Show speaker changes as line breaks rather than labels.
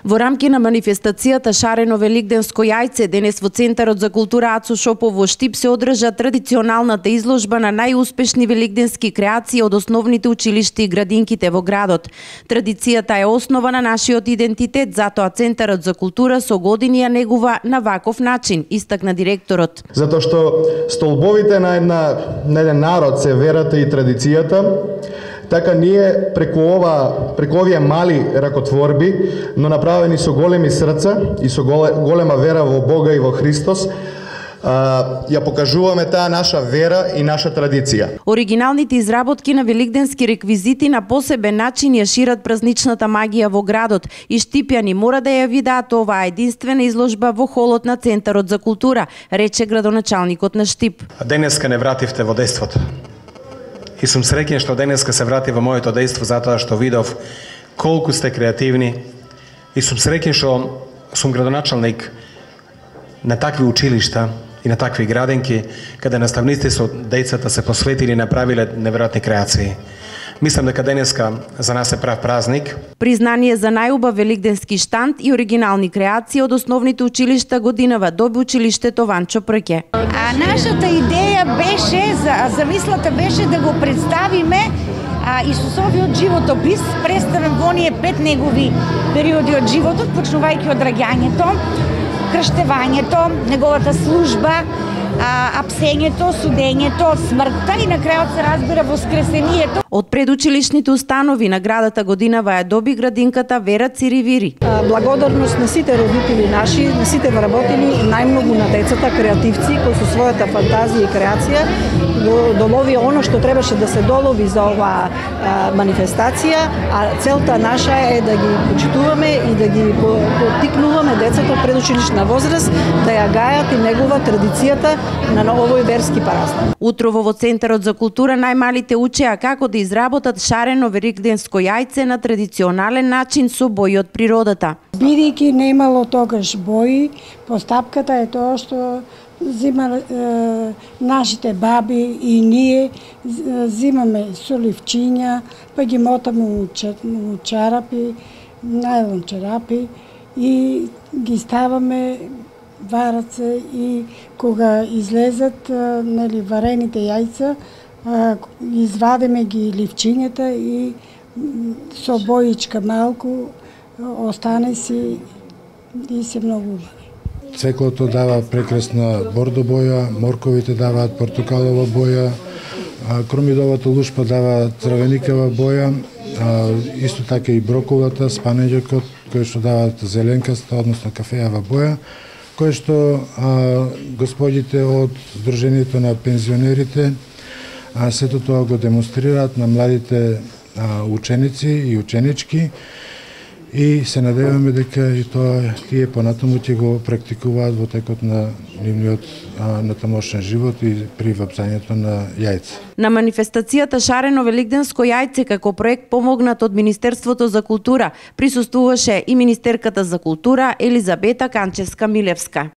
Во рамки на манифестацијата Шарено великденско јајце, денес во Центарот за култура Ацо Шопов во Штип се одржа традиционалната изложба на најуспешни великденски креации од основните училишта и градинките во градот. Традицијата е основа на нашиот идентитет, затоа Центарот за култура со години ја негува на ваков начин, истакна директорот.
Затоа што столбовите на еден народ се верата и традицијата, така ние преку овие мали ракотворби, но направени со големи срца и со голема вера во Бога и во Христос, ја покажуваме таа наша вера и наша традиција.
Оригиналните изработки на великденски реквизити на посебен начин ја шират празничната магија во градот и штипјани мора да ја видаат оваа единствена изложба во холот на Центарот за култура, рече градоначалникот на Штип.
Денеска не вративте во дејството. И сум среќен што денеска се врати во моето дејство затоа што видов колку сте креативни и сум среќен што сум градоначалник на такви училишта и на такви градинки каде наставниците со децата се посветили и направиле неверојатни креации. Мислам дека денеска за нас е прав празник.
Признание за најубав великденски штанд и оригинални креации од основните училишта годинава доби училиштето Ванчо Прке.
Нашата идеја беше, замислата беше да го представиме Исусовиот животопис, представен во оние 5 негови периоди од животот, почнувајќи од раѓањето, крштевањето, неговата служба, апсењето, судењето, смртта и на крајот се разбира воскресението.
Од предучилишните установи наградата годинава ја доби градинката Вера Циривири.
Благодарност на сите родители наши, на сите вработени, најмногу на децата, креативци кои со својата фантазија и креација долови оно што требаше да се долови за оваа манифестација, а целта наша е да ги почитуваме и да ги поттикнуваме децата од предучилишна возраст да ја гајат и негува традицијата на овој верски празник.
Утрово во Центарот за култура најмалите учеа како да изработат шарено великденско јајце на традиционален начин со бои од природата.
Бидејќи немало тогаш бои, постапката е тоа што нашите баби и ние зимаме соливчиња, па ги мотаме у чарапи, најлон чарапи и ги ставаме варат се и кога излезат варените јајца, извадиме ги ливчињата и со боичка малку остане си и се многу убави.
Цеклото дава прекрасна бордо боја, морковите даваат портокалова боја, кромидовата лушпа дава црвеникава боја, исто така и броколата, спанеđакот, кои што даваат зеленкаста, односно кафејава боја, кој што господите од Сдруженијето на пензионерите сето тоа го демонстрираат на младите ученици и ученички и се надеваме дека и тоа тие понатаму ќе го практикуваат во текот на нивниот натамошен живот и при вапцањето на јајца.
На манифестацијата Шарено великденско јајце како проект помогнат од Министерството за култура присуствуваше и министерката за култура Елизабета Канчевска-Милевска.